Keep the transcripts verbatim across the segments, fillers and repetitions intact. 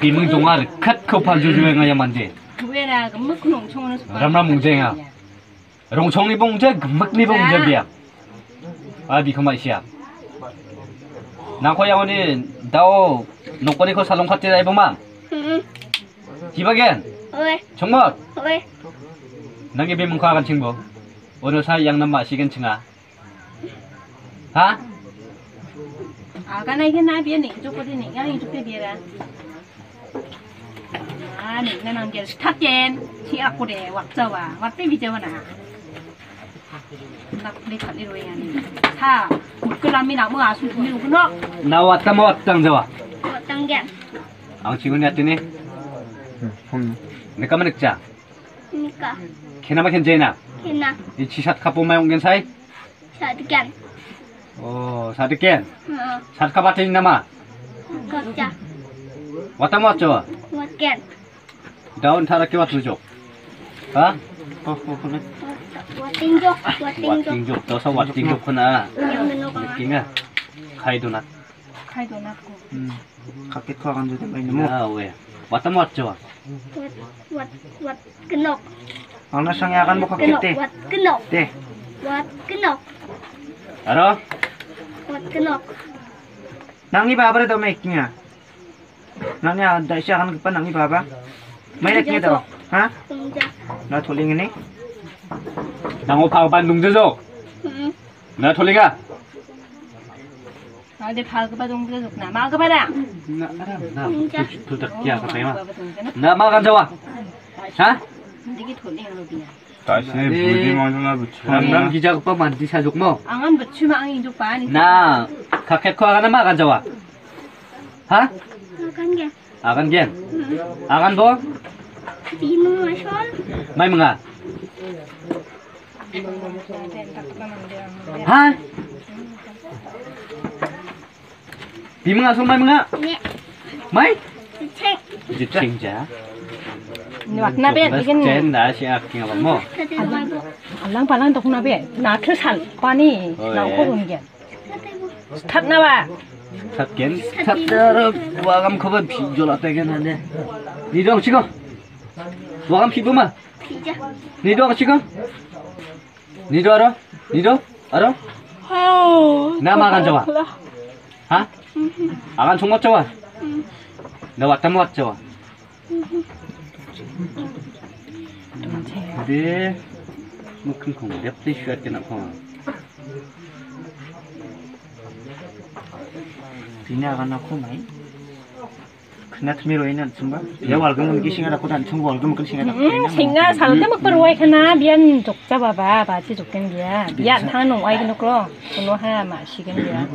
Biming donga rikatko paljujuenga ia mande. Uera gimikko nongchongono sopa. Ramram mungjenga. Rongchongni bongja, gimikni bongja bia. A biko ma·sia. Nangko iagoni dao nokkoniko salongkate raiboma. Hmm. Hibagen? Oe. Chongmot? Oe. Nangni bimingko agan chingbo. Ono sa iang nama sigen chinga. Ha? Agan aigen na bia ning joko de ning, yang joko de bia. Ah, ning na nang gel staken. Si aku de, wakjawa. Wakpe bijawa na. Nak ni kali roi ani. Sa, mukul ami nak mu asu mi rukuno. Na watta ma wattang jawa. Wattang gen. Ang chingun ya tini. Hmm. Neka manik cha. Nika. Kena ma ken jena. Kena. Ichi sat kapo mai ong gen sai. Sadikan. Oh, sadiken. Heeh. Sat kapate nama. Kapja. Watta ma wacho. Watken. Daun tara ke watu jok. Ha? Oh, oh, oh. Watinjok, watinjok. Watinjok, dosa watinjok kena. Yang menok. Kinga. Kai donat. Kai donat ko. Hmm. Kakek ko akan juta main nemu. Ya, we. Watta ma wacho. Wat, wat, wat kenok. Angna sangi akan bo kakek te. Wat kenok. Te. Wat kenok. Aro? Wat kenok. Nangni baba re do me kinga. Nangni a-, daisi agangipa nangni baba? Mai ra kni do? Ha? Dongja. Na toling ini? Nango pagpan dongja jo? Hmm. Na tolinga? Ade pagpa dongja jokna. Magpa da? Na, na, na. Dongja. Tu, tu, tu, kia, kata ma. Na, ma kan jawa? Ha? Digi toling lo dia. Taisi budi mangsa na butsu. Ramram gijagipa mandi sajokmo. Angan butsu ma ang injokba ni. Na, kakekko agan ma agan jawa? Ha? Agan ge. Agan gen. Hmm. Agan bo? Bimung asol. Mai menga. Ha? Bimung asong mai menga? Ne. Mai? Cek. Jicing ja. Ni wakna be, bikin. Chen da si ak king apa mo? Kati mai bo. Alang palang dokna be. Na thu sal pani. Oh, na ya. Ko run gen. Start na ba? Start gen. Start da ro wagam ko ba phi jola te gen ane. Ni dong chiko. Wagam phi bo ma? Phi ja. Ni dong chiko. Nido aro? Nido? Aro? Oh, na ma agan jawa? Ha? Agan chongmot jawa? Na watta ma watta jawa? De, mukun kong, de, please, share kena kong. Bini agan aku mai. Kena tumi roi nan sumba. Ya walgam mungkin singa aku dan sumba walgam mungkin singa aku. Hmm, singa salgam aku roi kena bian jokja baba, baci jokin dia. Bian tang nong ai kenok lo. Kono ha ma sigen dia.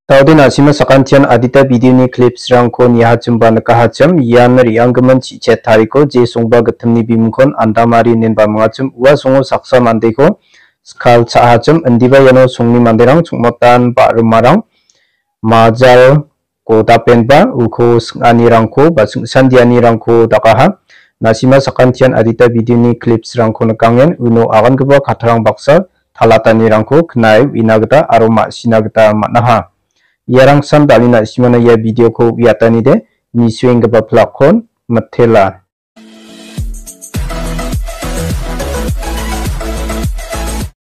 Taudin asima sakantian adita video-ni clips-rangko niahachimba nikahachim, ian re·anggimin chi·chet tariko je songba gittimni bimingkon andamari inen bamingachim ua songo saksa mandeko skal cha·achim, indiba iano songni manderang chongmotan ba·rimarang majal godapenba uko sing·anirangko ba singsandianirangko dakaha. Nasima sakantian adita video-ni clips-rangko nikangen uno agangipa kattarang baksa talatanirangko knae uina gita aro ma·sina gita man·aha. Iarangsan dal·e na·simana ia video-ko uiatanide nisuenggipa plak-kon mitela.